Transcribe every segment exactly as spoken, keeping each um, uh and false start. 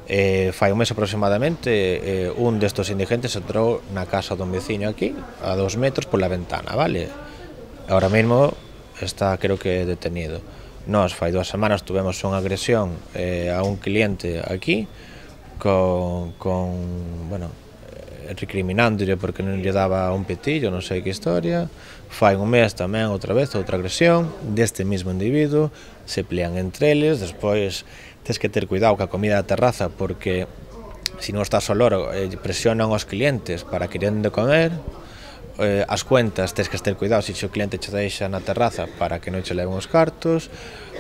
Eh, fai un mes aproximadamente, eh, un destos indigentes entrou na casa dun veciño aquí, a dos metros pola ventana, vale? Ahora mesmo está, creo que, detenido. Nós, fai dúas semanas, tuvemos unha agresión eh, a un cliente aquí, con, con bueno, recriminándole porque non lle daba un petillo, non sei que historia. Fai un mes tamén, outra vez, outra agresión deste mesmo individuo, se pelean entre eles, despois tens que ter cuidado ca comida da terraza porque se non estás ao loro eh, presionan os clientes para que queren de comer, eh, as cuentas tens que ter cuidado se o cliente che deixa na terraza para que non che leven os cartos.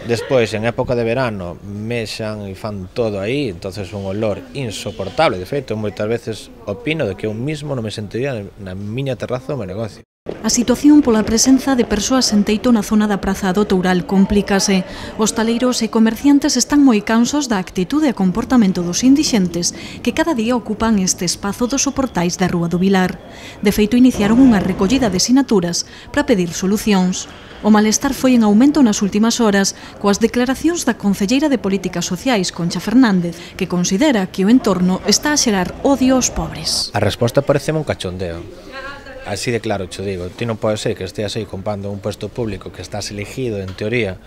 Despois, en época de verano, mexan e fan todo aí, entonces un olor insoportable. De feito, moitas veces opino de que eu mismo non me sentiría na miña terraza do meu negocio. A situación pola presenza de persoas en teito na zona da Praza do Toural complícase. Hostaleiros e comerciantes están moi cansos da actitude e comportamento dos indixentes que cada día ocupan este espazo dos soportais da Rúa do Vilar. De feito, iniciaron unha recollida de sinaturas para pedir solucións. O malestar foi en aumento nas últimas horas coas declaracións da concelleira de Políticas Sociais, Concha Fernández, que considera que o entorno está a xerar odio aos pobres. A resposta pareceme un cachondeo. Así de claro te digo, ti non pode ser que esteas aí comprando un puesto público que estás elegido en teoría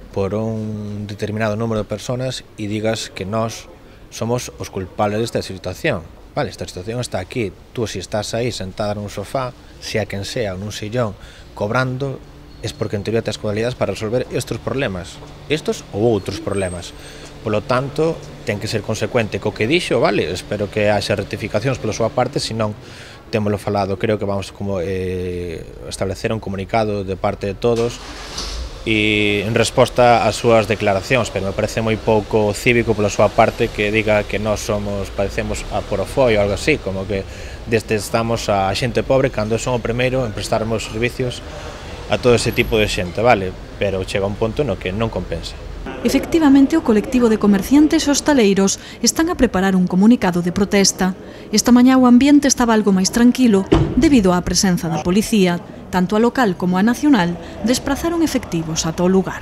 por un determinado número de personas e digas que nós somos os culpables desta situación. Vale, esta situación está aquí, tú si estás aí sentada nun sofá, sea quen sea, nun sillón, cobrando, es porque en teoría tes cualidades para resolver estes problemas, estes ou outros problemas. Polo tanto, ten que ser consecuente co que dixo, vale? Espero que haxa rectificacións pola súa parte, senón témolo falado, creo que vamos como eh, establecer un comunicado de parte de todos e en resposta ás súas declaracións, pero me parece moi pouco cívico pola súa parte que diga que nós somos, parecemos a Porofoi ou algo así, como que desde estamos a xente pobre cando son o primeiro en prestarmos servicios a todo ese tipo de xente, vale? Pero chega un punto no que non compensa. Efectivamente, o colectivo de comerciantes e hostaleiros están a preparar un comunicado de protesta. Esta mañá o ambiente estaba algo máis tranquilo debido á presenza da policía. Tanto a local como a nacional desprazaron efectivos ata o lugar.